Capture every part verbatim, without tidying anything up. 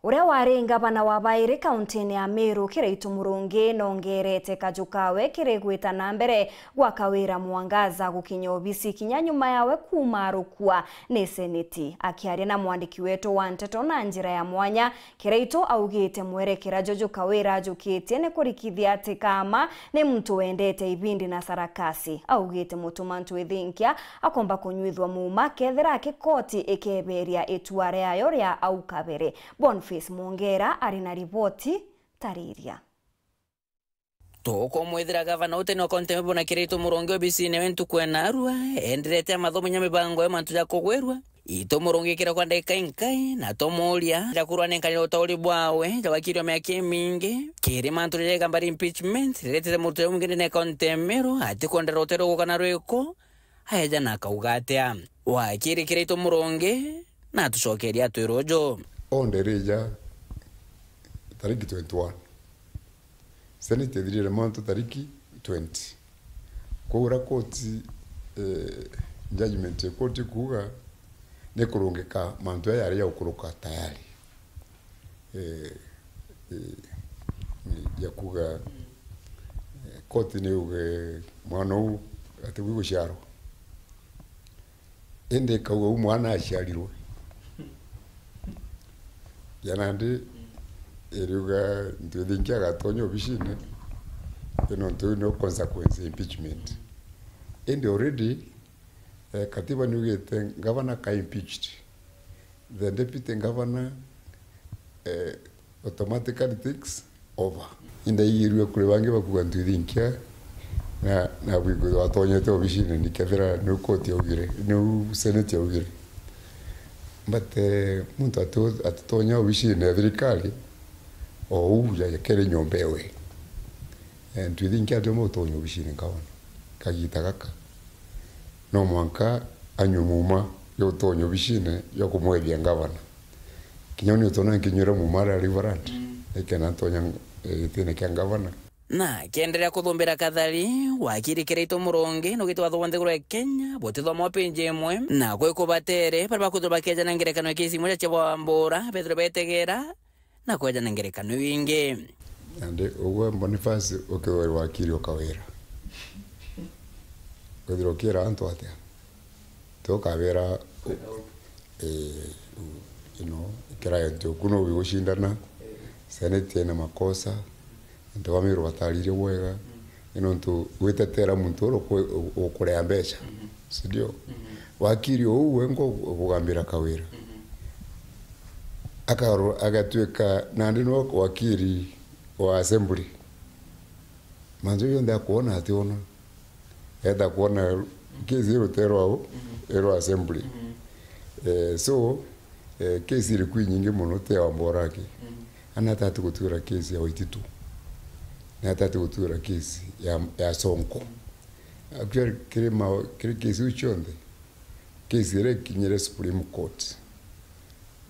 Uria wari ngavana wa bairi kauntini ya Meru, Kiraitu Murungi, nongerete kaju kawe kiri gwita na mbere gwa Kawira Mwangaza gukinya obisi kinya nyuma yawe kuuma arukua ni seneti. Akiaria na mwandiki wetu wa nteto na njira ya mwanya, Kiraitu augite mwerekera juju Kawira ajukitie ni kurikithia ati kama ni muntu wendete ibindi na sarakasi. Augite Mutuma Ntwithinkia akomba kunyuithua muuma kethira aki koti ikeberia itua riayo ria au kabere. Boniface Mwongera ari na riboti tariria. Tukumwithira gavana uteni wa kaunti ya Meru na Kiraitu Murungi obisine we ntuku ya narua, enderete amathomo nya mibango ya mantu ja kugwirua. Itu Murungi kira kwa ndagika inkai, na tumuria ja kurwa nenkanira utauri bwawe ja wakiri wa miaka imingi kiri mantu ja igamba ria impeachment riretete muruti ja mwingi ndene ya kaunti ya Meru atikwendera uteru guka na rwiko, aeja na akauga atia? Wakiri Kiraitu Murungi na atucokeria atwira uju. Onde rija tariki twenty-one. Senate ithirire mantu tariki twenty. Kwou uria koti, eh, judgment ya koti kuuga ni kurungika mantu aya yari ya gukuruka tayari. Eh, eh, ya kuuga, eh, koti ni yuge mwana uu atigwi guciarwa. Indi ikauga uu mwana aciarirwe. Ya nandi iriuga Ntwithinkia agatonya obicine, nontu iu niyo consequence ya impeachment. Indi already, eh, katiba niugite ngavana ka impeached, the deputy governor, eh, automatically takes over. Indaigirue kuri bangi bakuga Ntwithinkia na, na bwigwithwa atonyete obicine ni kethira niu koti yaugire, niu seneti yaugire. But, eh, muntu atu-, atitonya obicine ya thirikari o uu ya, ya kere nyomba ewe. Eh, Ntwithinkia atiumba gutonya obicine ngavana kagita gaka. No mwanka anyue muuma ya gutonya obicine ya kumwethia ngavana. Kinya uni utona nkinyuira muuma aria Reverend, mm, ikena ntonya, eh, gitine kia ngavana. Na akiendelea kuthumbira kathari, wakiri Kiraitu Murungi nugite watho bwa nthiguru ya Kenya butithomwa page imwe, na kwi kubatere baria bakwithirwa bakejana ngerekano ya kesi imwe cia Wambura bethirwe betegera na kwejana ngerekano iu ingi. Nandi ugwe Boniface ukithirwa uri wakiri o Kawira, withirwa ukiira antu atia? Ti ukabera, eh, you know, client oku no ugicindana, senate ina makosa, antu ba Meru bataririe bwega, ni nontu witetera muntu uria ukwe-, ukurea mbeca, si ndio? Wakiri uu we ngo ukugambira Kawira. Akaro-, agatuika nandi no wakiri wa assembly. Mantu jonthe akwona ationa. Enda kwona case iruterwa u, irwa assembly. Eh, so, eh, case iri kwi nyingi mono, ti ya Wambora aki. Ana atati gutura case ya Waititu. Na atati gutura case ya, ya Sonko. Actually, kiri ma-, kiri case iu cionthe, case iria ikinyire Supreme Court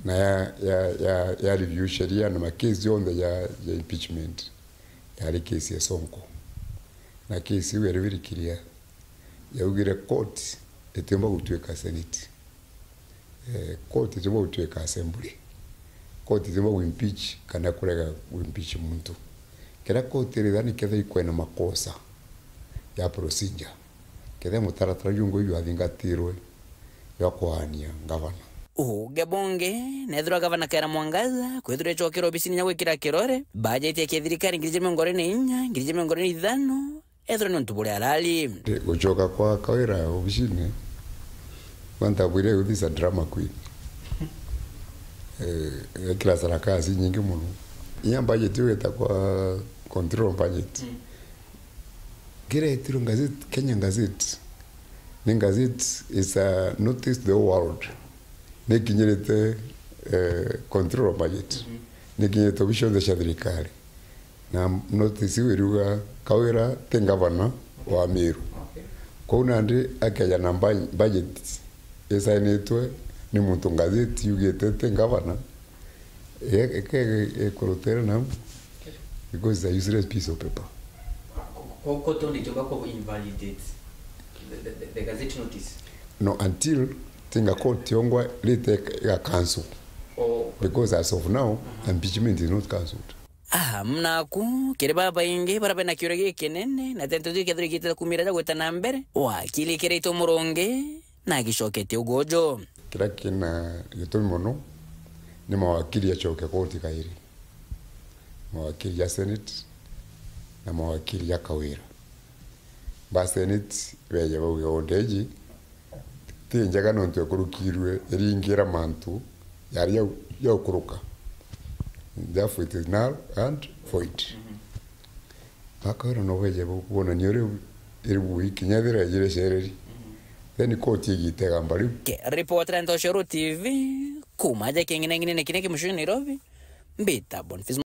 na ya, ya, ya, ya review sheria na ma case jonthe ya, ya impeachment, yari case ya Sonko. Na case iu yari very clear. Yaugire court itiumba gutuika senate. Eh, court itiumba gutuika assembly. Court itiumba guimpeach kana kurega guimpeach muntu. Kiria court irithani kethira ikwena makosa ya procedure, kethira mutaratara jungwa jwathingatirwe jwa kuania ngavana. Uge bungi, nethirwa gavana Kawira Mwangaza kwithirwa icokera obisini ya gwikira kirore bajeti ya kithirikari ngiri ijiri mirongo iri na inya, ngiri ijiri mirongo iri na ithano, ethirwa ni untu buria arari. Gucoka kwa Kawira obisini, kwanza bwire youth is a drama queen. Eh, ekira sarakasi nyingi mono. Inya budget iu itagwa control budget. Ngiretirwe ngazeti, Kenya Gazette. Ni gazette is a notice to the whole world. Nikinyirite, eh, control budget. Nikinyirite obici cionthe cia thirikari. Na notice iu iriuga Kawira ti ngavana wa Meru. Kwou nandi akeja na mba-, budget isainitwe ni muntu ngazeti yugite ti ngavana, e-, eke-, ekurutira na because it's a useless piece of paper. Ko-, ko-, ko-, tondite uga ko invalidate the, the, the, the gazette notice? No, until tinga court yongwa rite ya cancel. Because as of now, impeachment is not cancelled. Aha, mnaku, kiri babaingi baria bena kiuria gikinene, na tento jikethirwa igitete kumira ja gwita na mbere, wakili Kiraitu Murungi na agicoketie uguju. Kiria kina gitumi mono ni mawakili acoke koti kairi. Mawakili ja Senate na mawakili ja Kawira. Ba Senate beje bauge order iji ti njega nontu ekurukirwe iringira mantu yari ya, ya ukuruka. Therefore it is null and void. Bakawira no beje bu-, bonania uria iri bui kinya ethira ijire cereri. Then court igitega mbari. Ke-, reporter Ntoshoro T V, kuma aja king'inang'inene kiria ki mucii Nairobi, mbita Boniface